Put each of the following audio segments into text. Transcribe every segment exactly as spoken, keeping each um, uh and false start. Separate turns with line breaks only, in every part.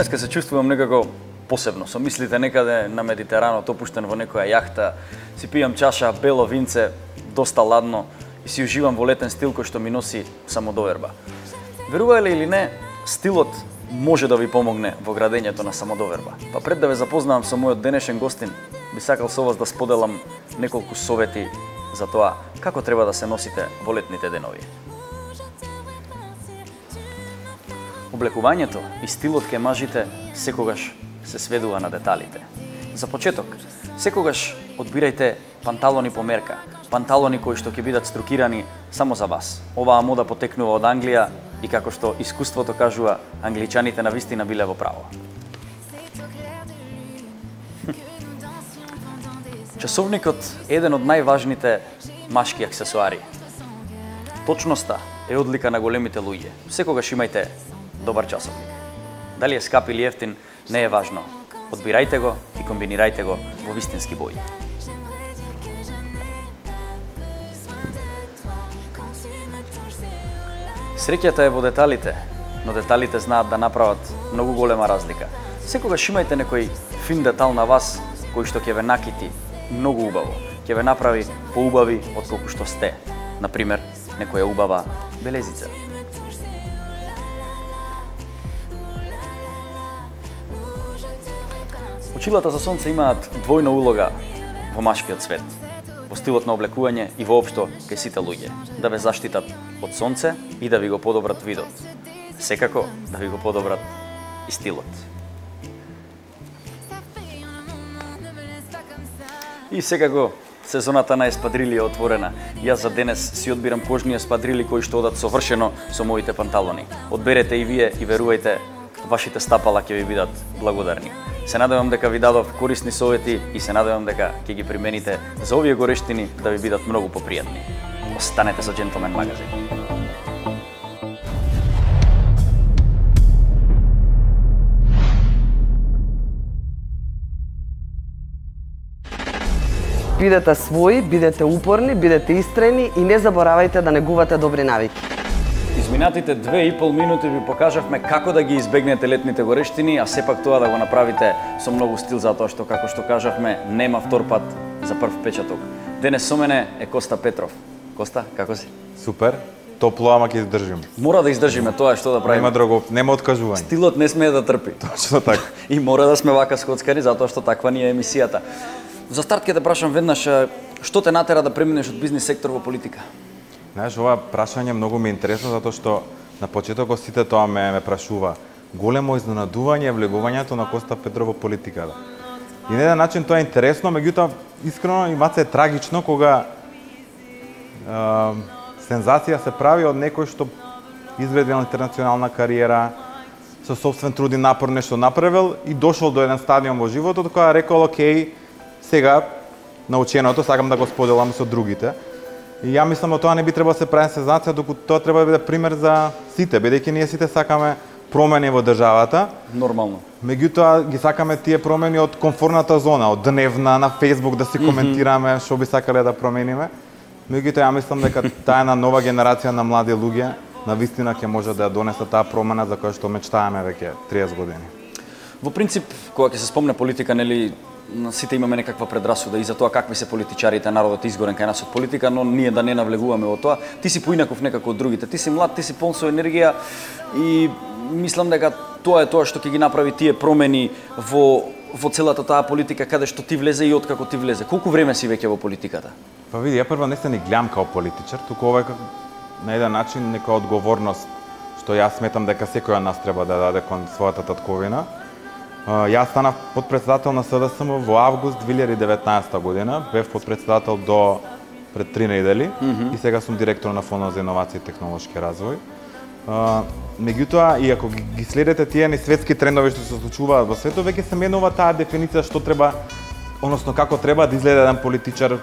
Денеска се чувствувам некако посебно. Со мислите некаде на Медитеранот, опуштен во некоја јахта, си пијам чаша бело винце, доста ладно и си уживам во летен стил кој што ми носи самодоверба. Верувале или не, стилот може да ви помогне во градењето на самодоверба. Па пред да ве запознавам со мојот денешен гостин, би сакал со вас да споделам неколку совети за тоа како треба да се носите во летните денови. Облекувањето и стилот кај мажите секогаш се сведува на деталите. За почеток, секогаш одбирајте панталони по мерка, панталони кои што ќе бидат струкирани само за вас. Оваа мода потекнува од Англија и како што искуството кажува, англичаните навистина биле во право. Часовникот е еден од најважните машки аксесуари. Точноста е одлика на големите луѓе. Секогаш имајте добар часовник. Дали е скап или ефтин, не е важно. Одбирајте го и комбинирајте го во вистински бои. Среќата е во деталите, но деталите знаат да направат многу голема разлика. Секогаш имајте некој фин детал на вас кој што ќе ве накити многу убаво, ќе ве направи поубави од колку што сте. Например, некоја убава белезица. Очилата за сонце имаат двојна улога во машкиот свет, во стилот на облекување и воопшто кај сите луѓе, да ве заштитат од сонце и да ви го подобрат видот. Секако да ви го подобрат и стилот. И секако сезоната на еспадрили е отворена. Јас за денес си одбирам кожни еспадрили кои што одат совршено со моите панталони. Одберете и вие и верувајте, вашите стапала ќе ви бидат благодарни. Се надевам дека ви дадов корисни совети и се надевам дека ќе ги примените за овие горештини да ви бидат многу попријатни. Останете со Джентлмен магазин.
Бидете своји, бидете упорни, бидете истрени и не заборавајте да негувате добри навики.
Изминатите две и пол минути ви покажавме како да ги избегнете летните горештини, а сепак тоа да го направите со многу стил, затоа што, како што кажавме, нема втор пат за прв печаток. Денес со мене е Коста Петров. Коста, како си?
Супер, топло, ама ќе издржим.
Мора да издржиме, тоа е што да правиме.
Нема друго, нема откажување.
Стилот не смее да трпи.
Точно така.
И мора да сме вака скоцкари, затоа што таква ни е емисијата. За старт ќе те прашам веднаш, што те натера да преминеш од бизнис сектор во политика?
Знаеш, ова прашање многу ме интересно, затоа што на почетокот сите тоа ме, ме прашува. Големо изненадување влегувањето на Коста Петров во политиката. И на еден начин тоа е интересно, меѓутоа искрено и маце е трагично кога е, сензација се прави од некој што изградил интернационална кариера, со собствен труд и напор нешто направил и дошол до еден стадиум во животот која рекол, окей, сега наученото сакам да го споделам со другите. И ја мислам дека тоа не би требало да се прави сензација, докато тоа треба да биде пример за сите, бидејќи ние сите сакаме промени во државата.
Нормално.
Меѓутоа ги сакаме тие промени од комфортната зона, од дневна на Facebook да си коментираме што би сакале да промениме. Меѓутоа ја мислам дека таа една нова генерација на млади луѓе навистина ќе може да ја донесе таа промена за која што мечтаеме веќе триесет години.
Во принцип, кога ќе се спомне политика, нели, сите имаме некаква предрасуда и за тоа какви се политичарите, народот е изгорен кај нас од политика, но ние да не навлегуваме во тоа. Ти си поинаков некако од другите. Ти си млад, ти си полн со енергија и мислам дека тоа е тоа што ќе ги направи тие промени во во целата таа политика каде што ти влезе и откако ти влезе. Колку време си веќе во политиката?
Па види, ја прва не се ни гледам као политичар, туку ова е на еден начин нека одговорност што јас сметам дека секој од нас треба да даде кон својата татковина. Јас станав подпредседател на СДСМ во август две илјади и деветнаесетта година, бев подпредседател до пред три недели mm -hmm. и сега сум директор на Фондот за иновации и технолошки развој. Меѓутоа, и ако ги следите тие ни светски трендови што се случуваат во светот, веќе се менува таа дефиниција што треба, односно како треба да изгледа еден политичар,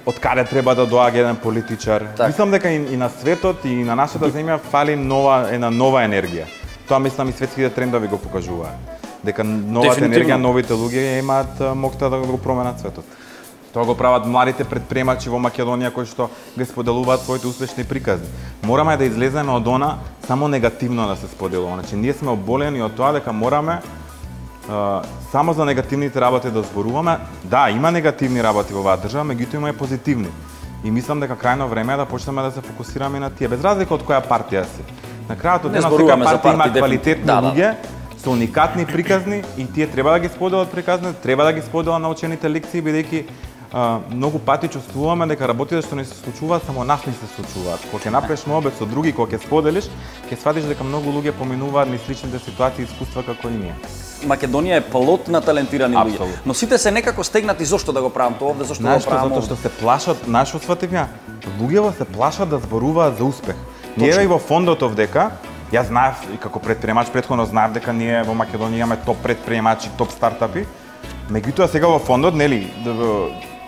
од каде треба да доаѓа еден политичар. Так. Мислам дека и, и на светот и на нашата земја фали нова една нова енергија. Тоа мислам и светските трендови го покажуваат. Дека новата енергија, новите луѓе имаат моќта да го променат светот. Тоа го прават младите претприемачи во Македонија кои што ги споделуваат своите успешни приказни. Мораме да излеземе од она само негативно да се споделува. Значи ние сме оболени од тоа дека мораме uh, само за негативните работи да зборуваме. Да, има негативни работи во оваа држава, меѓутоа има и позитивни. И мислам дека крајно време е да почнеме да се фокусираме на тие, без разлика од која партија си. На крајот од денот секоја партија има квалитетни да, луѓе, со уникатни приказни и тие треба да ги споделат приказни, треба да ги споделат научените лекции, бидејќи Uh, многу пати чувствуваме дека работите што не се случуваат, само нас не се случуваат. Кога ќе направиш моебет со други, кога ќе споделиш, ќе сватиш дека многу луѓе поминуваат низ сличните ситуации и искуства како и ние.
Македонија е плод на талентирани луѓе, но сите се некако стегнати зошто да го правам тоа овде, зошто да го правам.
Затоа што се плашат, знаеш што сватив ја? Луѓето се плашат да зборуваат за успех. Ние и во фондот овдека, јас знаев и како претприемач претходно знаев дека ние во Македонија имаме топ претприемачи, топ стартапи. Меѓутоа сега во фондот, нели,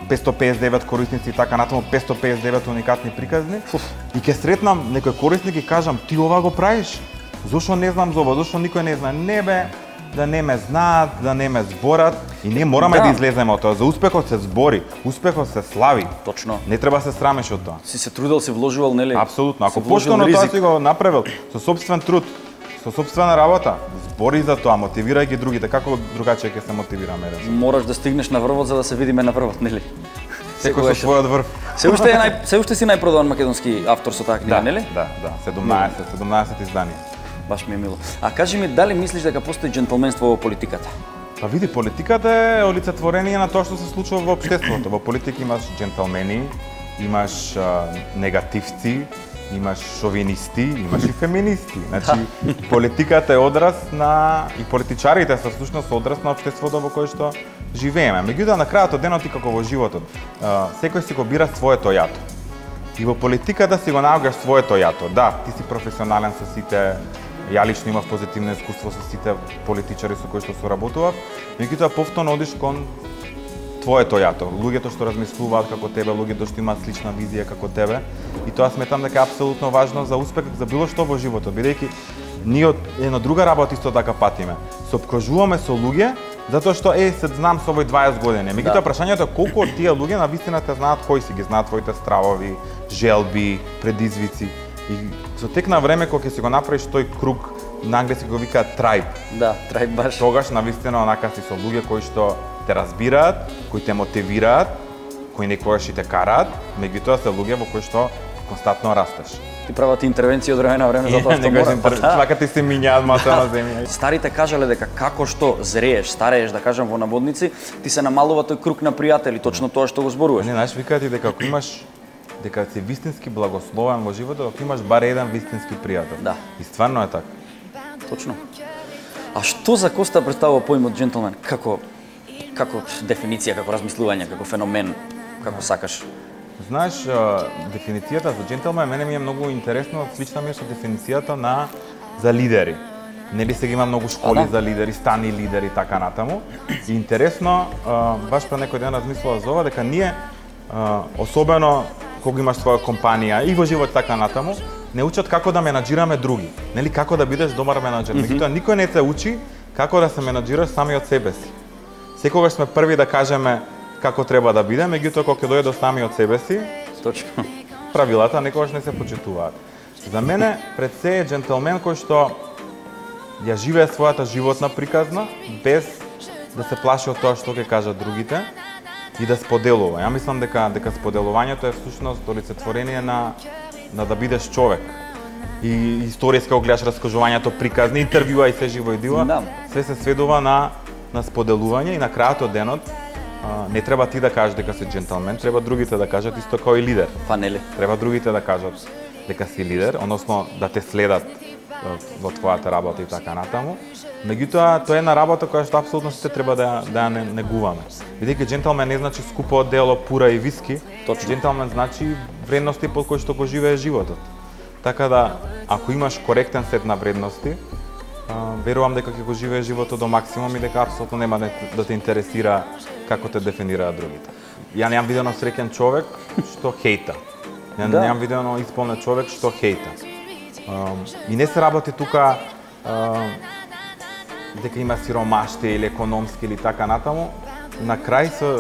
петстотини педесет и девет корисници и така натаму, петстотини педесет и девет уникатни приказни. Фуф. И ќе сретнам некој корисник и кажам, ти ова го правиш? Зошто не знам за ова? Зошто никој не знае? Не бе, да не ме знаат, да не ме зборат. И ние мораме да, да излеземе од тоа. За успехот се збори, успехот се слави.
Точно.
Не треба се срамиш од тоа.
Си се трудел, си вложувал, нели?
Апсолутно. Ако поштено тоа си го направил со сопствен труд, со сопствена работа, збори за тоа, мотивирај ги другите, како другаче ќе се мотивираме?
Мораш да стигнеш на врвот за да се видиме на врвот, нели?
Секој со својот врв.
Се уште е нај, се уште си најпродаван македонски автор со таа книга,
да,
нели?
Да, да, седумнаесет, седумнаесет изданија.
Баш ми е мило. А кажи ми, дали мислиш дека постои џентлменство во политиката?
Па види, политиката е олицетворение на тоа што се случува во општеството. Во политика имаш џентлмени, имаш а, негативци, имаш шовинисти, имаш и феминисти. Значи, политиката е одраз на и политичарите се всушност одраз на општеството во кое што живееме. Меѓутоа на крајот од денот и како во животот, секој си го бира своето јато. И во политиката си го наоѓаш своето јато. Да, ти си професионален со сите, ја лично имав позитивно искуство со сите политичари со кои што соработував, меѓутоа повторно одиш кон твоето јато, луѓето што размислуваат како тебе, луѓето што имаат слична визија како тебе, и тоа сметам дека е апсолутно важно за успех за било што во животот, бидејќи ние од една друга работа исто така патиме. Се опкружуваме со луѓе затоа што е се знам со овој дваесет години. Меѓутоа да, прашањето е колку од тие луѓе на вистина те знаат кои си, ги знаат твоите стравови, желби, предизвици. И со тек на време кога ќе си го направиш тој круг, на англиски го викаат tribe.
Да, tribe баш.
Тогаш на вистина онака си со луѓе кои што те разбираат, кои те мотивираат, кои некогаш и те караат, меѓутоа се луѓе во кои што константно растеш.
Ти прават интервенција од време на време затоа што мора.
Свакате се минјаат маса на земја.
Старите кажале дека како што зрееш, старееш, да кажам во наводници, ти се намалува тој круг на пријатели, точно тоа што го зборуваш.
Не, знаеш, викаат и дека ако имаш дека си вистински благословен во животот, ако имаш бар еден вистински пријател.
Да.
И стварно е така.
Точно. А што за Коста представува поимот џентлмен? Како како дефиниција, како размислување, како феномен, како сакаш?
Знаеш, дефиницијата за џентлмен мене ми е многу интересно, слична ми е со дефиницијата на за лидери. Нели сега има многу школи а, да. за лидери, стани лидери и така натаму. И интересно, баш пред некој ден размислував за ова дека ние особено кога имаш своја компанија и во живот така натаму, не учат како да менаџираме други. Нели како да бидеш добар менаџер. Mm-hmm. Меѓутоа никој не те учи како да се менаџираш сами од себе си. Секогаш сме први да кажеме како треба да биде, меѓутоа кога ќе дојде до сами од себе си,
точно.
Правилата некогаш не се почитуваат. За мене пред се е џентлмен кој што ја живее својата животна приказна без да се плаши од тоа што ќе кажат другите и да споделува. Ја мислам дека дека споделувањето е всушност олицетворение на на да бидеш човек. И историјска го гледаш раскажувањето, приказни, интервјуа и се живо и диво, да. Све се сведува на на споделување и на крајот од денот а, не треба ти да кажеш дека си џентлмен, треба другите да кажат исто како и лидер.
Па нели?
Треба другите да кажат дека си лидер, односно да те следат во твојата работа и така натаму. Меѓутоа, тоа е една работа која што апсолутно сите треба да да ја негуваме. Бидејќи џентлмен не значи скупо одело, пура и виски. Точно. Џентлмен значи вредности под кои што го живее животот. Така да, ако имаш коректен сет на вредности, верувам дека ќе го живее животот до максимум и дека апсолутно нема да те интересира како те дефинираат другите. Ја немам видено среќен човек што хејта. Ја да. Немам видено исполнет човек што хејта. И не се работи тука дека има сиромаштие или економски или така натаму. на крај се,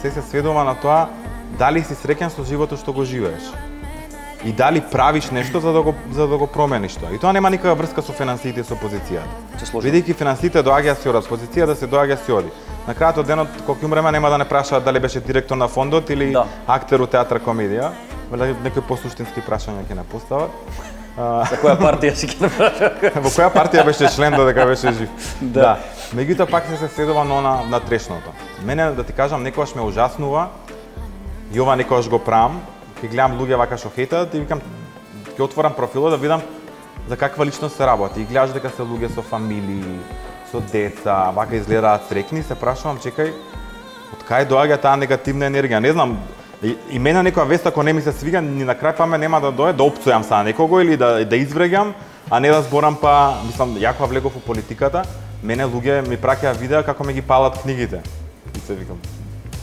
се се сведува на тоа дали си среќен со животот што го живееш. И дали правиш нешто за да го за да го промениш тоа. И тоа нема никаква врска со финансиите и со позицијата. Бидејќи финансиите доаѓаат си одат, позицијата се доаѓа си оди. На крајот од денот кога ќе умреме нема да не прашаат дали беше директор на фондот или да. актер у театар комедија. Некои посуштински прашања ќе не постават.
За која партија си ќе прашаат?
Во која партија беше член додека беше жив? Да. да. Меѓутоа пак се се сведува на на, на трешното. Мене да ти кажам некогаш ме ужаснува и ова некогаш го правам. Ќе гледам луѓе вака што хейтат и викам ќе отворам профилот да видам за каква личност се работи. И гледаш дека се луѓе со фамилии, со деца, вака изгледаат среќни, се прашувам, чекај, од кај доаѓа таа негативна енергија? Не знам, и, и мене некоја вест ако не ми се свига, ни на крај па ме нема да дое да опцујам са некого или да да извреѓам, а не да зборам па, мислам, ја кога влегов во политиката, мене луѓе ми праќаат видеа како ме ги палат книгите. И се викам,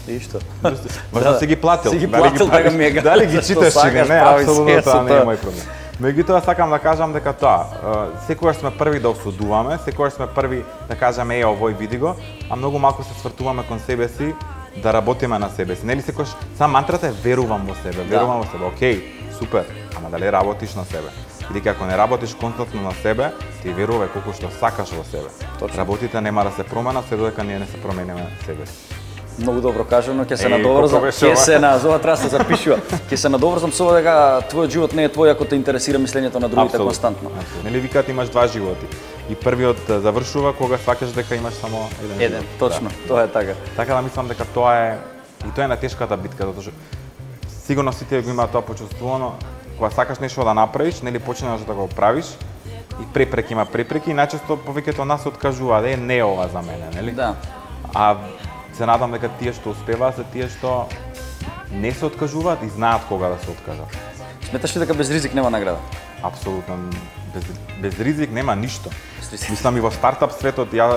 и што?
Може да си ги платил.
Си ги платил така ми е гадно.
Дали ги читаш или не, апсолутно тоа не е мој проблем. Меѓутоа сакам да кажам дека тоа, секогаш сме први да осудуваме, секогаш сме први да кажеме е овој види го, а многу малку се свртуваме кон себе си да работиме на себе си. Нели секогаш сам мантрата е верувам во себе, верувам во себе. Океј, супер, ама дали работиш на себе? Бидејќи ако не работиш константно на себе, ти верувај колку што сакаш во себе. Точно. Работите нема да се променат се додека ние не се промениме себе си.
Многу добро кажано, ќе се надоврзам, ќе се на зова треба се запишува. Ќе се надоврзам со ова дека твојот живот не е твој ако те интересира мислењето на другите Абсолютно. константно.
Абсолютно. Нели викаат имаш два животи. И првиот завршува кога сваќаш дека имаш само еден,
еден живот. Точно, да. Тоа е така.
Така да мислам дека тоа е и тоа е на тешката битка, затоа што сигурно сите го имаат тоа почувствувано, кога сакаш нешто да направиш, нели почнеш да го правиш и препреки има препреки и најчесто повеќето од нас се откажуваат, е не е ова за мене, нели?
Да.
А се надам дека тие што успеваат се тие што не се откажуваат и знаат кога да се откажат.
Сметаш ли дека без ризик нема награда?
Апсолутно. Без, без ризик нема ништо. Мислам и во стартап светот, ја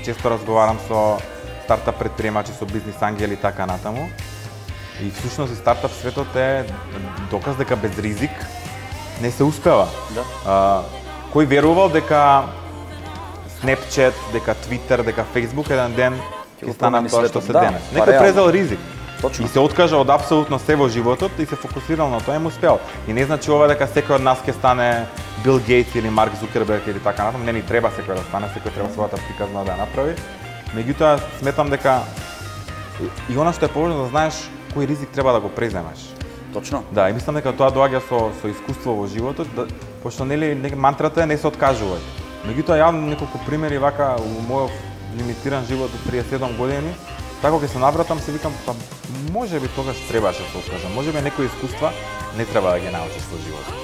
често разговарам со стартап предприемачи, со бизнис ангели и така натаму. И всушност и стартап светот е доказ дека без ризик не се успева.
Да.
А, кој верувал дека Snapchat, дека Twitter, дека Facebook еден ден ќе стана тоа што се денес. Да, некој презел ризик.
Точно.
И се откажа од апсолутно се во животот и се фокусирал на тоа и му успеал. И не значи ова дека секој од нас ќе стане Бил Гейтс или Марк Зукерберг или така натаму, не ни треба секој да стане, секој треба својата приказна да ја направи. Меѓутоа сметам дека и она што е поважно да знаеш кој ризик треба да го преземеш.
Точно.
Да, и мислам дека тоа доаѓа со со искуство во животот, да, пошто нели мантрата е не се откажувај. Меѓутоа ја неколку примери вака во мојот лимитиран живот од триесет и седум години, така ќе се навратам се викам па можеби тогаш требаше да се откажам. Можеби некои искуства не треба да ги научиш во животот.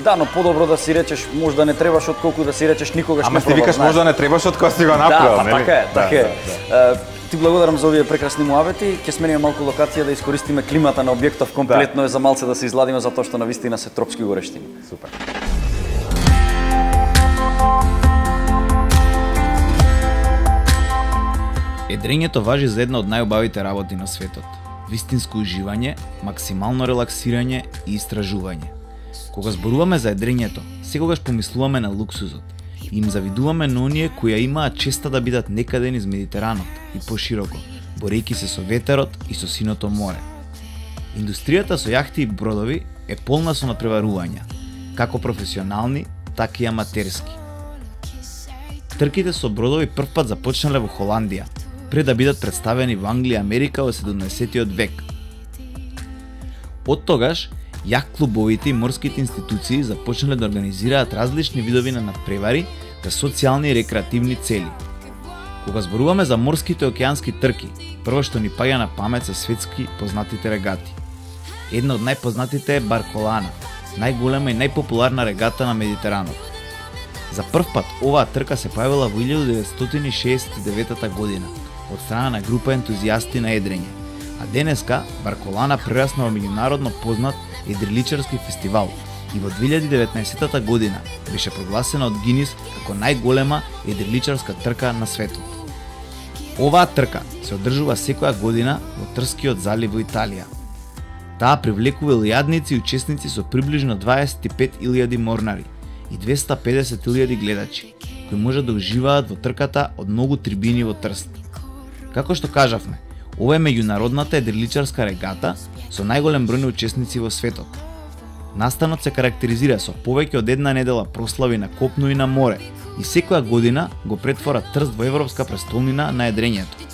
Да, но подобро да си речеш можда не требаш отколку да си речеш никогаш
Ама
не
пробав. Ама ти викаш можда не требаш од кога си го направил,
да,
нели?
Да, така е, така е. Да, да. Ти благодарам за овие прекрасни муавети. Ќе смениме малку локација да искористиме климата на објектов комплетно да. е за малце да се изладиме затоа што навистина се тропски горештини.
Супер.
Едрењето важи за една од најубавите работи на светот. Вистинско уживање, максимално релаксирање и истражување. Кога зборуваме за едрењето, секогаш помислуваме на луксузот. Им завидуваме на оние кои ја имаат честа да бидат некаде низ Медитеранот и пошироко, борејќи се со ветерот и со синото море. Индустријата со јахти и бродови е полна со надпреварувања, како професионални, така и аматерски. Трките со бродови првпат започнале во Холандија, пред да бидат представени во Англија и Америка во седумнаесеттиот век. Од тогаш, јах клубовите и морските институции започнале да организираат различни видови на надпревари за социјални и рекреативни цели. Кога зборуваме за морските океански трки, прво што ни паѓа на памет се светски познатите регати. Една од најпознатите е Барколана, најголема и најпопуларна регата на Медитеранот. За прв пат оваа трка се појавила во илјадум деветстотини и шеесет и девета година од страна на група ентузијасти на едрење, а денеска Барколана прерасна во меѓународно познат едриличарски фестивал и во две илјади и деветнаесета година беше прогласена од Гинис како најголема едриличарска трка на светот. Оваа трка се одржува секоја година во Трскиот залив во Италија. Таа привлекува илјадници и учесници со приближно дваесет и пет илјади морнари и двесте и педесет илјади гледачи, кои можат да уживаат во трката од многу трибини во Трст. Како што кажавме, ова е меѓународната едриличарска регата со најголем број на учесници во светот. Настанот се карактеризира со повеќе од една недела прослави на копно и на море и секоја година го претвора Трст во европска престолнина на едрењето.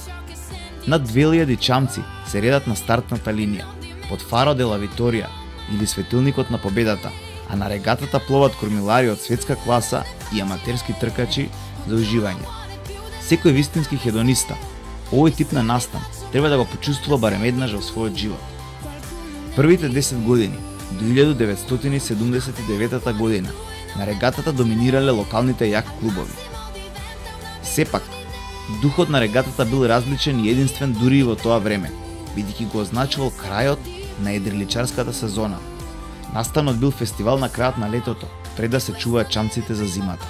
Над две илјади чамци се редат на стартната линија, под Фаро де ла Виторија или Светилникот на победата, а на регатата пловат кормилари од светска класа и аматерски тркачи за уживање. Секој вистински хедониста овој тип на настан треба да го почувствува барем еднаш во својот живот. Првите десет години до илјада деветстотини седумдесет и девета година на регатата доминирале локалните јак клубови. Сепак, духот на регатата бил различен и единствен дури и во тоа време, бидејќи го означувал крајот на едриличарската сезона. Настанот бил фестивал на крајот на летото, пред да се чуваат чамците за зимата.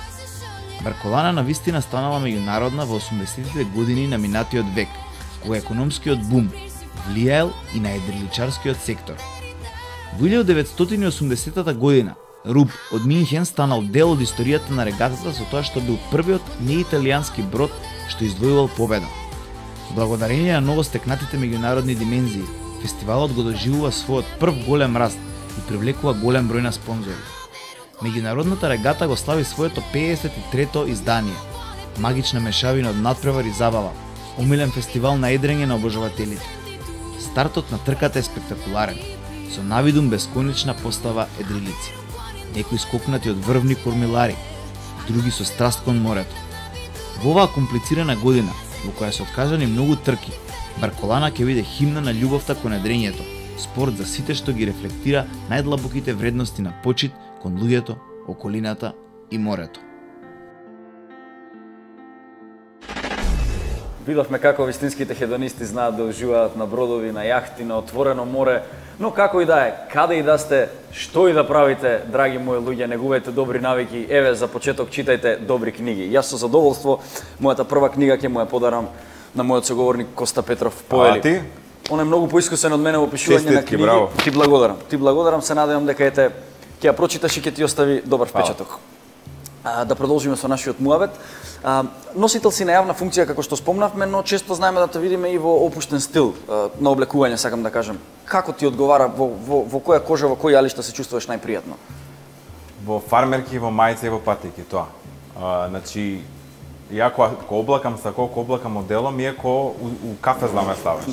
Барколана на вистина станала меѓународна во осумдесетите години на минатиот век, кога економскиот бум влијаел и на едриличарскиот сектор. Во илјада деветстотини и осумдесета година Руб од Минхен станал дел од историјата на регатата со тоа што бил првиот неиталијански брод што извојувал победа. Благодарение на новостекнатите меѓународни димензии, фестивалот го доживува својот прв голем раст и привлекува голем број на спонзори. Меѓународната регата го слави своето пеесет и трето издание. Магична мешавина од надпревар и забава, омилен фестивал на едрење на обожавателите. Стартот на трката е спектакуларен, со навидум бесконечна постава едрилици. Некои скокнати од врвни кормилари, други со страст кон морето. Во оваа комплицирана година, во која се откажани многу трки, Барколана ќе биде химна на љубовта кон едрењето, спорт за сите што ги рефлектира најдлабоките вредности на почит кон луѓето, околината и морето.
Видовме како вистинските хедонисти знаат да уживаат на бродови, на јахти, на отворено море, но како и да е, каде и да сте, што и да правите, драги мои луѓе, негувајте добри навики, еве за почеток читајте добри книги. Јас со задоволство мојата прва книга ќе му ја подарам на мојот соговорник Коста Петров Повели.
А ти?
Он е многу поискусен од мене во пишување на книги.
Браво.
Ти благодарам. Ти благодарам, се надевам дека ете ќе ја прочиташ и ќе ти остави добар впечаток. А, да продолжиме со нашиот муабет. А, носител си на јавна функција, како што спомнавме, но често знаеме да те видиме и во опуштен стил а, на облекување, сакам да кажем. Како ти одговара, во, во, во која кожа, во кој јалишта се чувствуваш најпријатно?
Во фармерки, во мајца и во патики, тоа. А, значи, ја кога облакам са колку облакам одело, ми е ко у, у кафе да ме ставаш.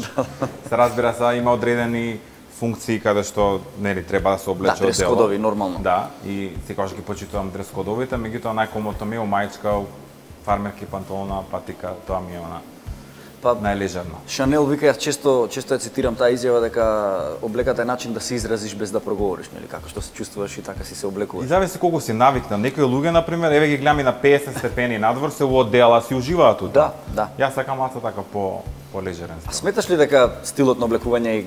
Се разбира се, има одредени функции каде што нели треба да се облече
одело. Да, дрес-кодови нормално.
Да, и секогаш ги почитувам дрес-кодовите, меѓутоа најкомотно ми е мајчка, фармерки, панталона, патика, тоа ми е она па, најлежерно.
Шанел вика, јас често често ја цитирам таа изјава дека облеката е начин да се изразиш без да проговориш, нели, како што се чувствуваш и така си се облекуваш.
И зависи колку си навикнат. Некои луѓе на пример, еве ги гледам и на пеесет степени надвор се во одела, си уживаат тука.
Да, да.
Јас сакам малку така по полежерен стил.
А сметаш ли дека стилот на облекување е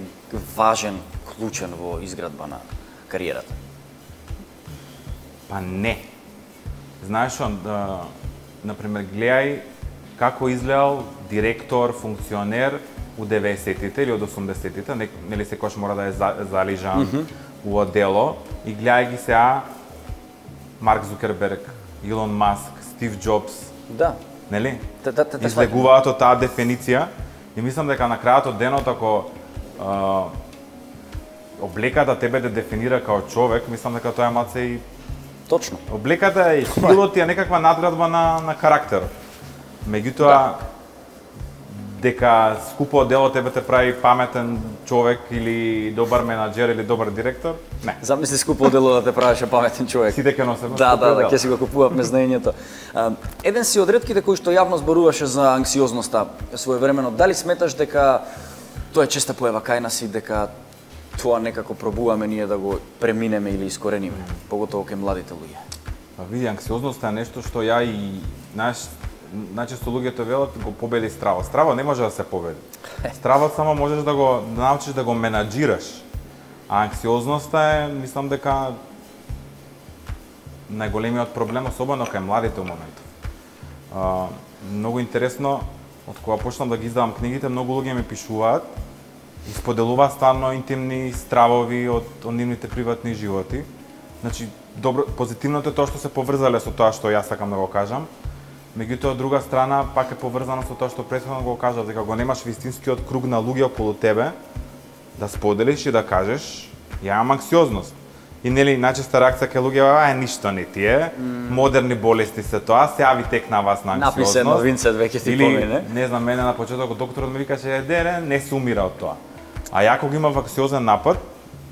важен, клучен во изградба на кариерата?
Па не. Знаеш, да, например, гледај како изгледал директор, функционер у деветдесетите или од осумдесетите, нели секојаш мора да е залижан mm -hmm. у одело, и гледај ги сега Марк Зукерберг, Илон Маск, Стив Джобс.
Да.
Нели?
Те, те, те,
излегуваат од таа дефиниција и мислам дека на крајот од денот ако а, облеката тебе да дефинира као човек, мислам дека тоа е малце и
точно.
Облеката и стилот е некаква надградба на на карактерот. Меѓутоа да. Дека скупо одело тебе те прави паметен човек или добар менаџер или добар директор? Не.
Замисли скупо одело да те правеше паметен човек.
Сите ќе носат.
Да, да, да, ќе си го купувавме знаењето. Еден си од ретките кои што јавно зборуваше за анксиозноста своевремено. Дали сметаш дека тоа е честа појава кај нас и дека тоа некако пробуваме ние да го преминеме или искорениме, поготово кај младите луѓе?
Па види, анксиозноста е нешто што ја и наш најчесто луѓето велат го победи стравот. Стравот не може да се победи. Стравот само можеш да го да научиш да го менаџираш. А анксиозноста е, мислам дека најголемиот проблем, особено кај младите у моментов. А, многу интересно, од кога почнам да ги издавам книгите, многу луѓе ми пишуваат и споделуваат стварно интимни стравови од, од нивните приватни животи. Значи, добро, позитивното е тоа што се поврзале со тоа што јас сакам да го кажам. Меѓутоа, од друга страна, пак е поврзано со тоа што претходно го кажав, дека го немаш вистинскиот круг на луѓе околу тебе, да споделиш и да кажеш, ја имам анксиозност. И нели најчеста реакција кај луѓе е ништо не ти е, mm. модерни болести се тоа, се јави тек на вас на анксиозност.
Напише новинце веќе ти помине.
Не знам, мене на почетокот докторот ми викаше дере, не се умира од тоа. А ја кога имав анксиозен напад,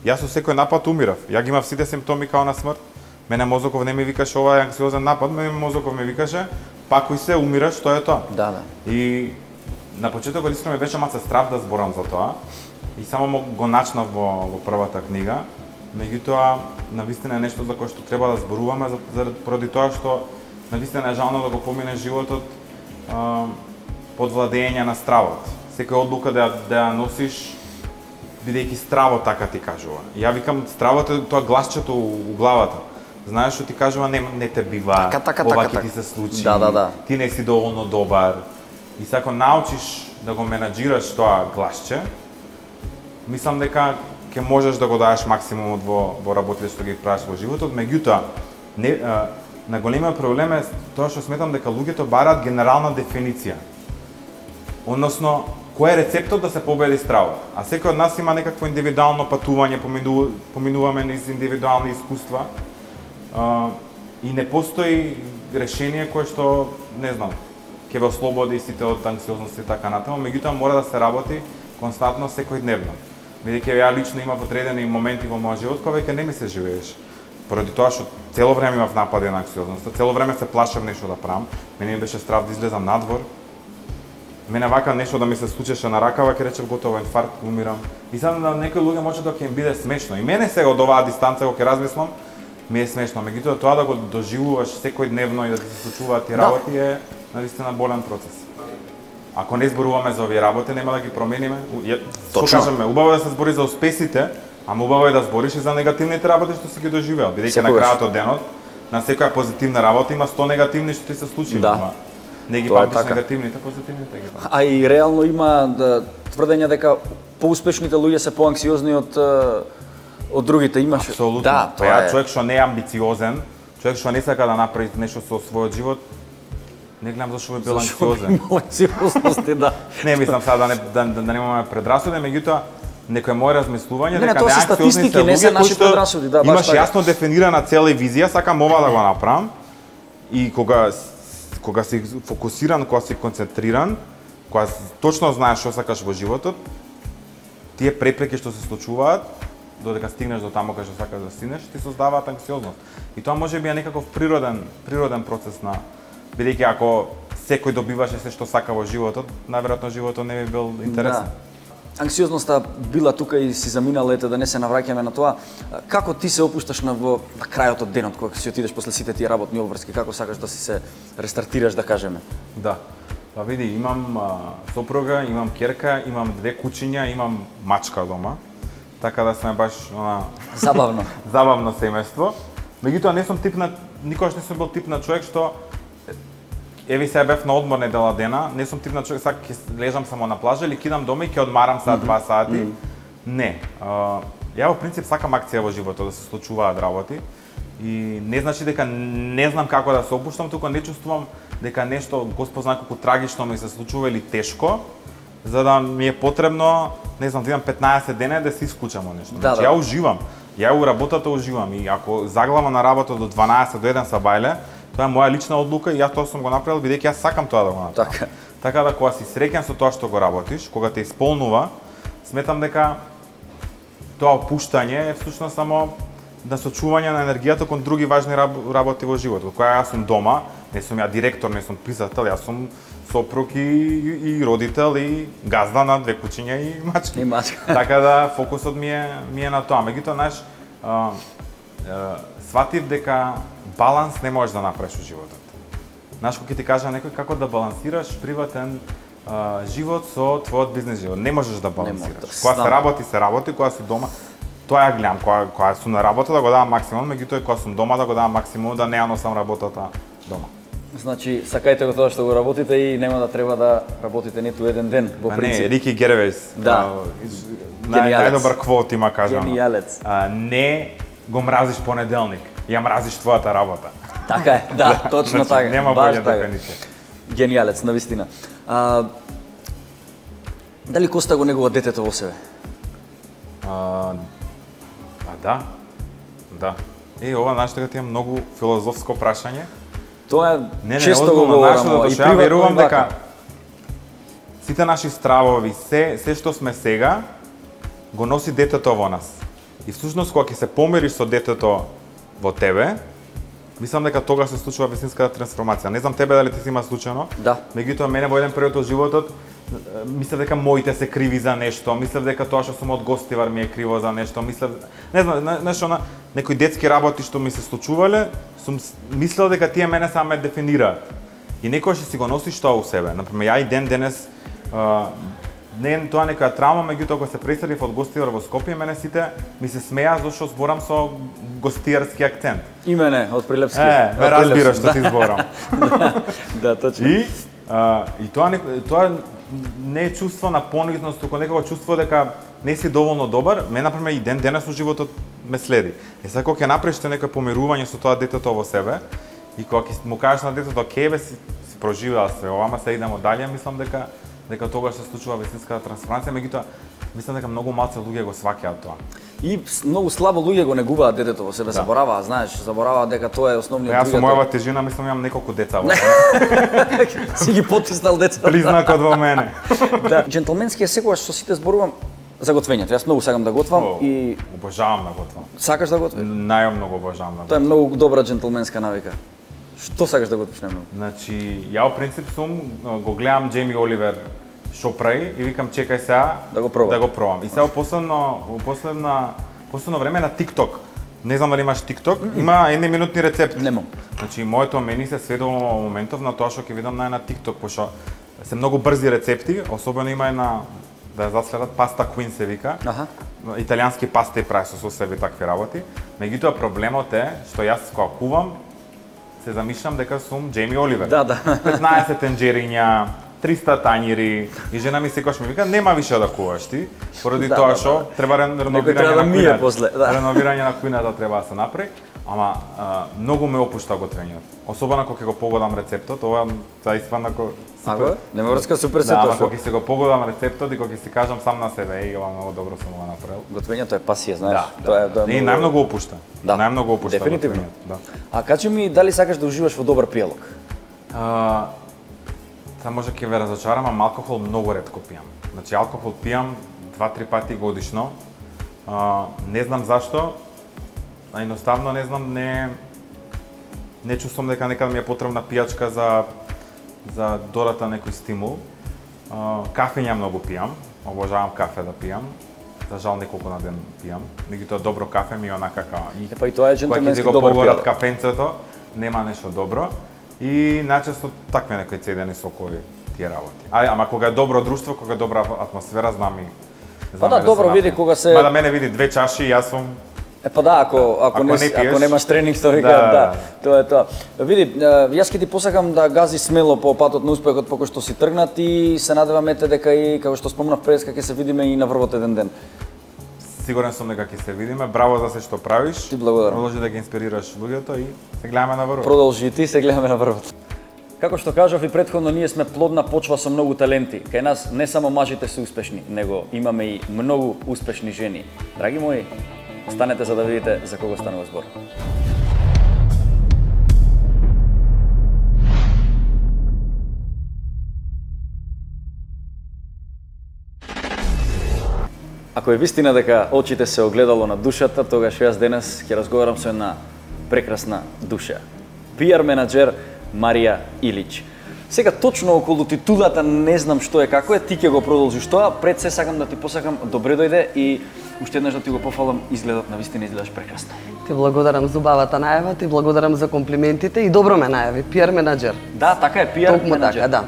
јас со секој напад умирав. Ја ги имав сите симптоми као на смрт. Мене мозоков не ми викаше ова е анксиозен напад, мене мозоков ми викаше пакуј се, умираш, тоа е тоа.
Да, да.
И на почетокот искрено ми беше маца страв да зборам за тоа. И само го начнав во, во првата книга. Меѓутоа, навистина е нешто за кое што треба да зборуваме, заради поради тоа што навистина е жално да го помине животот а, под владење на стравот. Секоја одлука да, да ја носиш, бидејќи стравот така ти кажува. Ја викам, стравот е тоа гласчето у главата. Знаеш што ти кажува, не, не те бива,
така, така,
ова
така,
ќе ти се случи,
да, да, да.
ти не си доволно добар. И се ако научиш да го менаџираш тоа гласче, мислам дека ќе можеш да го даеш максимумот во, во работите што ги правиш во животот. Меѓутоа, не, а, на големиот проблем е тоа што сметам дека луѓето бараат генерална дефиниција. Односно, кој е рецептот да се победи стравот? А секој од нас има некакво индивидуално патување, помину, поминуваме низ индивидуални искуства. Uh, и не постои решение кое што, не знам, ќе ве ослободи сите од анксиозност и така натаму, меѓутоа мора да се работи константно секојдневно. Бидејќи ја лично имав одредени моменти во мојот живот кога веќе не ми се живееш. Поради тоа што цело време имав напади на анксиозноста, цело време се плашев нешто да правам, мене ми беше страв да излезам надвор. Мене вака нешто да ми се случеше на ракава, ќе речев готово инфаркт, умирам. И сега на некои луѓе може да ќе им биде смешно. И мене сега од оваа дистанца кога ќе размислам, ми е смешно, меѓутоа тоа да го доживуваш секојдневно и да ти се случуваат тие работи е навистина болен процес. Ако не зборуваме за овие работи, нема да ги промениме. Што кажеме, убаво е да се збори за успесите, ама убаво е да збориш и за негативните работи што си ги доживеал, бидејќи на крајот од денот на секоја позитивна работа има сто негативни што ти се случи.
Да.
Не ги памтиш негативните, позитивните ги памтиш.
А и реално има да, тврдење дека поуспешните луѓе се поанксиозни од од другите. Имаш.
Апсолутно.
Да,
тоа е. Човек што не е амбициозен, човек што не сака да направи нешто со својот живот, не гледам зашто би бил анксиозен.
Анксиозности, да.
Не мислам сега да не да, да, да немаме предрасуди, меѓутоа некој мој размислување
дека
дека
не статистики, не се наши предрасуди, да,
имаш
така.
јасно дефинирана цела визија, сакам ова да го направам и кога кога си фокусиран, кога си концентриран, кога точно знаеш што сакаш во животот, тие препреки што се случуваат додека стигнеш до таму кај што сакаш да стигнеш, ти создаваат анксиозност. И тоа може би е некаков природен природен процес на бидејќи ако секој добиваше се што сака во животот, најверојатно животот не би бил интересен.
Да. Анксиозноста била тука и си заминала, ете да не се навраќаме на тоа. Како ти се опушташ на во на крајот од денот кога си отидеш после сите тие работни обврски, како сакаш да си се рестартираш, да кажеме?
Да. Па види, имам а, сопруга, имам ќерка, имам две кучиња, имам мачка дома. Така да сме баш она
забавно.
забавно семејство. Меѓутоа не сум тип на никогаш не сум бил тип на човек што еви се бев на одмор недела дена, не сум тип на човек сак ќе лежам само на плажа или кидам дома и ќе одмарам сат два сати. Mm -hmm. Не. А, ја во принцип сакам акција во животот, да се случуваат работи и не значи дека не знам како да се опуштам, туку не чувствувам дека нешто Господ знае колку трагично ми се случува или тешко, за да ми е потребно, не знам, да имам петнаесет дена да се исклучам од нешто.
Да,
значи,
да.
ја уживам. Ја у работата уживам и ако заглавам на работа до дванаесет до еден сабајле, тоа е моја лична одлука и јас тоа сум го направил бидејќи јас сакам тоа да го направам.
Така.
Така да кога си среќен со тоа што го работиш, кога те исполнува, сметам дека тоа опуштање е всушност само на сочување на енергијата кон други важни работи во животот. Кога јас сум дома, не сум ја директор, не сум писател, јас сум сопруг и, и, и родител и газда на две кучиња и мачки.
И мачки.
Така да фокусот ми е ми е на тоа. Меѓутоа, знаеш, а, а, сватив дека баланс не можеш да направиш во животот. Знаеш, кога ќе ти кажа некој како да балансираш приватен а, живот со твојот бизнес живот. Не можеш да балансираш. Кога се работи, се работи, кога си дома, тоа ја гледам, кога, кога сум на работа да го давам максимум, меѓутоа кога сум дома да го давам максимум, да не ја носам работата дома.
Значи, сакајте го тоа што го работите и нема да треба да работите ниту еден ден, во принцип.
Не, Рики Гервејс,
да.
нај, најдобар квот има кажано.
Гениалец.
А, не го мразиш понеделник, ја мразиш твојата работа.
Така е, да, точно
значи,
така.
Нема
баш
болја
така.
дефиниција.
Гениалец, навистина. А, дали Коста го негува детето во себе?
А, а да. Да. Е, ова знаеш дека ти е многу филозофско прашање.
Тоа е
Не, не,
често го
озбилно, знаеш
говорам,
што,
и
што ја верувам
приватно и
дека
вака.
сите наши стравови, се, се што сме сега, го носи детето во нас. И всушност кога ќе се помириш со детето во тебе, мислам дека тогаш се случува вистинската трансформација. Не знам тебе дали ти си има случајно.
Да.
Меѓутоа мене во еден период од животот мислев дека моите се криви за нешто, мислев дека тоа што сум од гостивар ми е криво за нешто, мислев, не знам, нешто на некои детски работи што ми се случувале, сум мислел дека тие мене само ме дефинираат. И некогаш си го носиш тоа у себе. Например, ја и ден денес а, не е тоа некоја травма, меѓутоа кога се преселив од гостивар во Скопје, мене сите ми се смеа зашто зборам со гостијарски акцент.
И мене, од Прилепски.
Е, ме разбираш што ти зборам.
Да, точно.
И а, и тоа не, тоа не е чувство на понизност, туку некако чувство дека не си доволно добар. Ме например и ден денес во животот ме следи. И сега кога ќе направиш некој помирување со тоа детето во себе и кога ќе му кажеш на детето ке бе си, си проживеа све ова, ама се идемо дале, мислам дека дека тогаш се случува вистинската трансформација, меѓутоа мислам дека многу малце луѓе го сваќаат тоа.
И многу слабо луѓе го негуваат детето во себе, да. Забораваат, знаеш, забораваат дека тоа е основниот.
Јас со мојава тежина мислам имам неколку деца во
Си ги потиснал децата.
Признакот во мене.
Да, џентлменски е секогаш со сите зборувам за готвењето. Јас многу сакам да готвам
О,
и
обожавам да готвам.
сакаш да готвиш?
Најмногу обожавам да
Тоа е
готвам.
многу добра џентлменска навика. Што сакаш да готвиш најмногу?
Значи, ја во принцип сум го гледам Џейми Оливер што прави и викам чекај сега
Да го пробам.
Да го пробам. И сега во последно во последна последно време на TikTok. Не знам дали имаш TikTok, mm -hmm. има едноминутни рецепти.
Немам.
Значи моето мени се сведува во моментов на тоа што ќе видам на на TikTok, пошто се многу брзи рецепти, особено има една да ја заследат паста Queen се вика.
Аха.
Италијански паста и прави со соусеви такви работи. Меѓутоа проблемот е што јас кога кувам се замислам дека сум Џейми Оливер.
Да, да.
петнаесет тенџериња, триста тањири и жена ми секогаш ми вика нема више да куваш ти, поради
Да,
тоа
да,
што
да.
треба реновирање
треба да
на
мие
кујната.
после, да.
Реновирање на кујната треба да се направи, ама а, многу ме опушта готвењето. Особено кога ќе го погодам рецептот, ова за испадна ко
Аго, нема врска супер се
Да, ама
тоа.
кога ќе си го погодам рецептот и кога ќе си кажам сам на себе, еј, ова многу добро сум го направил.
Готвењето е пасија, знаеш.
Да,
Тоа е тоа е
И
многу-
најмногу опушта.
Да.
Најмногу опушта.
Дефинитивно.
готвењето, Да.
А кажи ми дали сакаш да уживаш во добар пијалок?
А, Та може ќе ве разочарам, ама алкохол многу ретко пијам. Значи алкохол пијам два-три пати годишно. А, не знам зашто, а едноставно не знам, не не чувствувам дека некаде ми е потребна пијачка за за додатен некој стимул. А, кафе многу пијам, обожавам кафе да пијам. За жал неколку на ден пијам. Меѓутоа добро кафе ми е онака као и
Епа и тоа е
кога ќе ти
џентлменски
го
добар
погорат
пијалок.
кафенцето, нема нешто добро. И најчесто такви некои цедени сокови тие работи. А, ама кога е добро друштво, кога е добра атмосфера, знам и
Па да,
се
добро,
напијам.
види кога се-
Мада мене види две чаши, јас сум
Е па да, ако ако,
Ако
не,
не
си-
пиеш-
ако немаш тренинг, што вика,
Да,
да,
да.
тоа е тоа. Види, е, јас ќе ти посакам да гази смело по патот на успехот по кој што си тргнат и се надевам ете дека и како што спомнав пред дека ќе се видиме и на врвот еден ден.
сигурен сум дека ќе се видиме. Браво за се што правиш.
Ти благодарам.
Продолжи да ги инспирираш луѓето и се гледаме на врвот.
Продолжи и ти, се гледаме на врвот. Како што кажав и претходно, ние сме плодна почва со многу таленти. Кај нас не само мажите се успешни, него имаме и многу успешни жени. Драги мои, останете за да видите за кого станува збор. Ако е вистина дека очите се огледало на душата, тогаш јас денес ќе разговарам со една прекрасна душа. пи ар менаџер Марија Илич. Сега точно околу титулата не знам што е како е, ти ќе го продолжиш тоа. Пред се сакам да ти посакам добре дојде и уште еднаш да ти го пофалам, изгледот на вистина изгледаш прекрасно.
Ти благодарам за убавата најава, ти благодарам за комплиментите и добро ме најави, пи ар менаџер.
Да, така е, пи ар
Токму
менаџер.
така, да.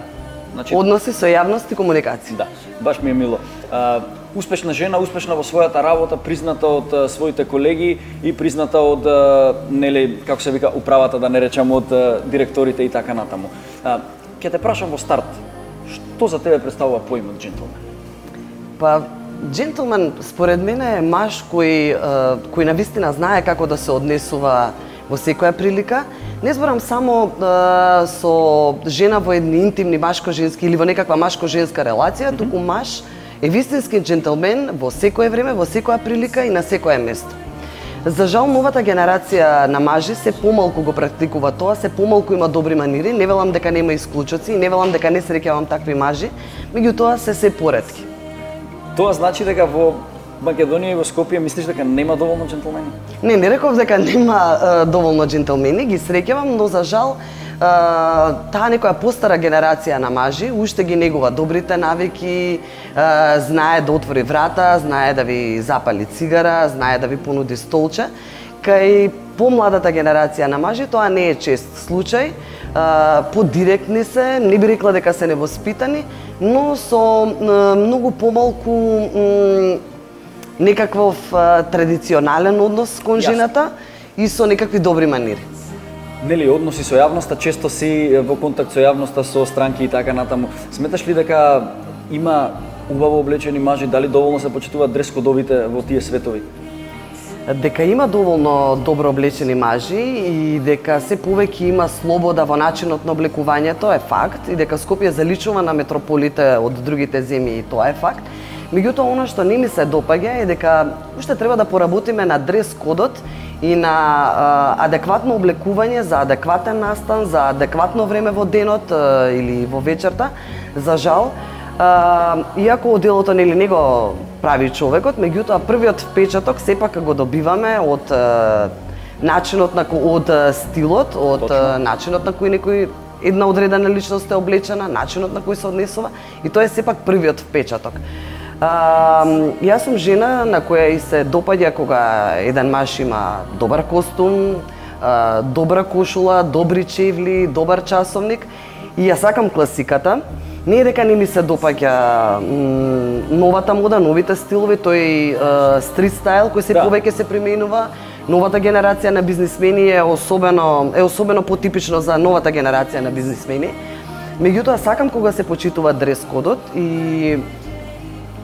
Значи,
Односи со јавност и комуникација.
да, баш ми е мило. А, успешна жена, успешна во својата работа, призната од а, своите колеги и призната од а, нели како се вика управата, да не речам од а, директорите и така натаму. А, ќе те прашам во старт, што за тебе представува поимот џентлмен?
Па, џентлмен според мене е маж кој, е, кој навистина знае како да се однесува во секоја прилика. Не зборам само а, со жена во едни интимни машко-женски или во некаква машко-женска релација, mm-hmm. туку маж е вистински джентелмен во секое време, во секоја прилика и на секое место. За жал, новата генерација на мажи се помалку го практикува тоа, се помалку има добри манири, не велам дека нема исклучоци и не велам дека не среќавам такви мажи, меѓутоа се се поретки.
Тоа значи дека во Македонија и во Скопје мислиш дека нема доволно джентлмени?
Не, не реков дека нема е, доволно джентлмени, ги среќавам, но за жал е, таа некоја постара генерација на мажи уште ги негува добрите навики, е, знае да отвори врата, знае да ви запали цигара, знае да ви понуди столче. Кај помладата генерација на мажи тоа не е чест случај, подиректни се, не би рекла дека се невоспитани, но со е, многу помалку некаков а, традиционален однос кон жената и со некакви добри манири.
Нели, односи со јавноста, често си во контакт со јавноста, со странки и така натаму. Сметаш ли дека има убаво облечени мажи, дали доволно се почитуваат дрес-кодовите во тие светови?
Дека има доволно добро облечени мажи и дека се повеќе има слобода во начинот на облекувањето е факт и дека Скопје заличува на метрополите од другите земји и тоа е факт. Меѓутоа, она што не ми се допаѓа е дека уште треба да поработиме на дрес-кодот и на а, адекватно облекување за адекватен настан, за адекватно време во денот а, или во вечерта. За жал, а, иако делото нели не го прави човекот, меѓутоа првиот впечаток сепак го добиваме од а, начинот на од стилот, од а, начинот на кој некој една одредена личност е облечена, начинот на кој се однесува и тоа е сепак првиот впечаток. А, јас сум жена на која и се допаѓа кога еден маж има добар костум, а, добра кошула, добри чевли, добар часовник и ја сакам класиката. Не е дека не ми се допаѓа новата мода, новите стилови, тој а, стрит стайл кој се да. повеќе се применува. Новата генерација на бизнисмени е особено е особено потипично за новата генерација на бизнисмени. Меѓутоа сакам кога се почитува дрес-кодот и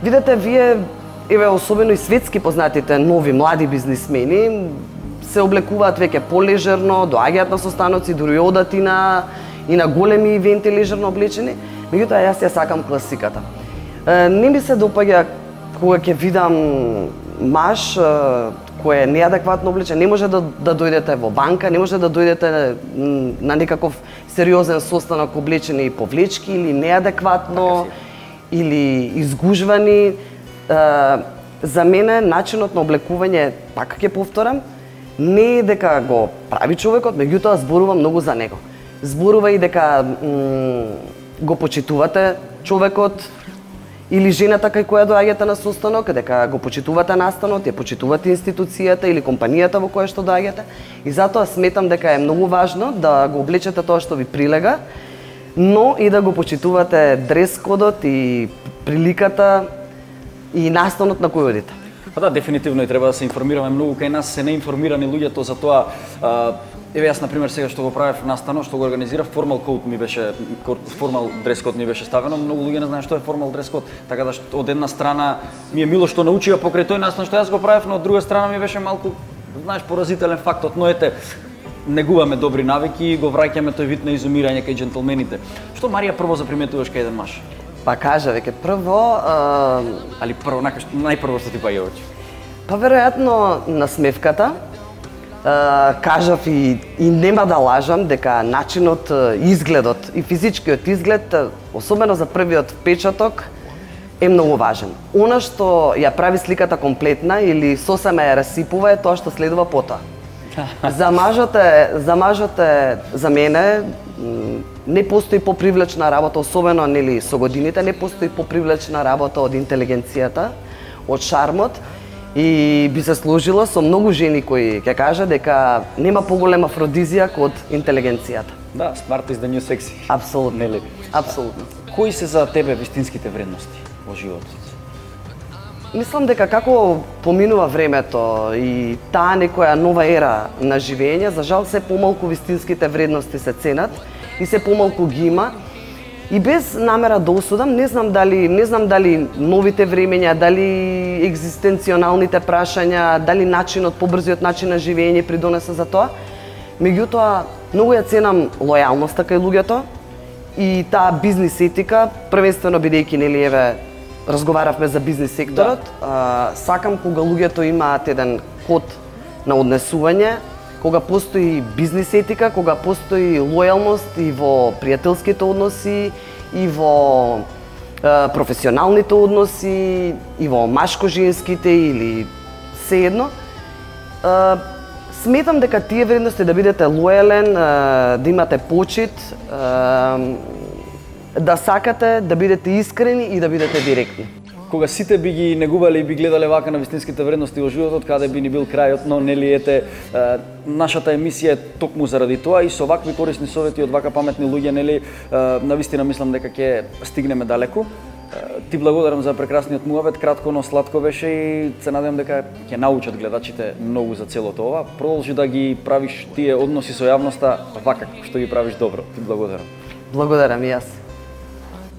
видете, вие, еве, особено и светски познатите нови млади бизнисмени се облекуваат веќе полежерно, доаѓаат на состаноци, дури одат и на и на големи ивенти лежерно облечени. Меѓутоа јас ја сакам класиката. Не ми се допаѓа кога ќе видам маж кој е неадекватно облечен, не може да, да дојдете во банка, не може да дојдете на некаков сериозен состанок облечени и повлечки или неадекватно или изгужвани. За мене начинот на облекување, пак ќе повторам, не е дека го прави човекот, меѓутоа зборува многу за него. Зборува и дека го почитувате човекот или жената кај која доаѓате на состанок, дека го почитувате настанот, ја почитувате институцијата или компанијата во која што доаѓате. И затоа сметам дека е многу важно да го облечете тоа што ви прилега, но и да го почитувате дрес-кодот и приликата и настанот на кој одите.
Па да, дефинитивно и треба да се информираме многу, кај нас се неинформирани луѓето за тоа. Еве јас, например, сега што го правев настанот, што го организирав, формал код ми беше, формал дрес код ми беше ставено, многу луѓе не знаат што е формал дрес код, така да од една страна ми е мило што научија покрај тој настан што јас го правев, но од друга страна ми беше малку, знаеш, поразителен фактот, но ете, негуваме добри навики и го враќаме тој вид на изумирање кај джентлмените. Што, Марија, прво заприметуваш кај еден маж?
Па кажа, веќе прво... А...
Али прво, најпрво што ти паѓа очи?
Па веројатно насмевката. Uh, кажав и, и нема да лажам дека начинот, изгледот и физичкиот изглед, особено за првиот впечаток, е многу важен. Она што ја прави сликата комплетна или сосема ја расипува е тоа што следува потоа. За мажот е, за мажот е, за мене, не постои попривлечна работа, особено нели со годините, не постои попривлечна работа од интелигенцијата, од шармот. И би се сложила со многу жени кои ќе кажа дека нема поголем афродизијак од интелигенцијата.
Да, smart is the new sexy.
Апсолутно.
Нели?
Апсолутно.
Кои се за тебе вистинските вредности во животот?
Мислам дека како поминува времето и таа некоја нова ера на живење, за жал се помалку вистинските вредности се ценат и се помалку ги има. И без намера да осудам, не знам дали не знам дали новите времења, дали екзистенционалните прашања, дали начинот, побрзиот начин на живење придонесе за тоа. Меѓутоа, многу ја ценам лојалноста кај луѓето и таа бизнис етика, првенствено бидејќи нели еве разговаравме за бизнис секторот, да. а, сакам кога луѓето имаат еден код на однесување, кога постои бизнис етика, кога постои лојалност и во пријателските односи, и во а, професионалните односи, и во машко-женските или сеедно. А, сметам дека тие вредности да бидете лојален, а, да имате почит, а, да сакате, да бидете искрени и да бидете директни.
Кога сите би ги негувале и би гледале вака на вистинските вредности во животот, каде би ни бил крајот, но нели ете, нашата емисија е токму заради тоа и со вакви корисни совети од вака паметни луѓе, нели, навистина мислам дека ќе стигнеме далеку. Ти благодарам за прекрасниот муавет, кратко но сладко беше и се надевам дека ќе научат гледачите многу за целото ова. Продолжи да ги правиш тие односи со јавноста вака што ги правиш добро. Ти благодарам.
Благодарам и јас.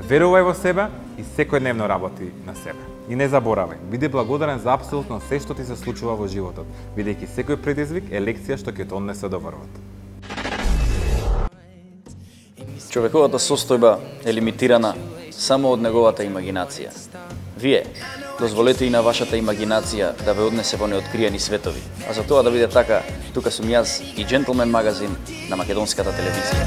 Верувај во себе и секојдневно работи на себе. И не заборавај, биди благодарен за апсолутно се што ти се случува во животот, бидејќи секој предизвик е лекција што ќе те однесе до врвот.
Човековата состојба е лимитирана само од неговата имагинација. Вие, дозволете и на вашата имагинација да ве однесе во неоткриени светови. А за тоа да биде така, тука сум јас и Джентлмен магазин на македонската телевизија.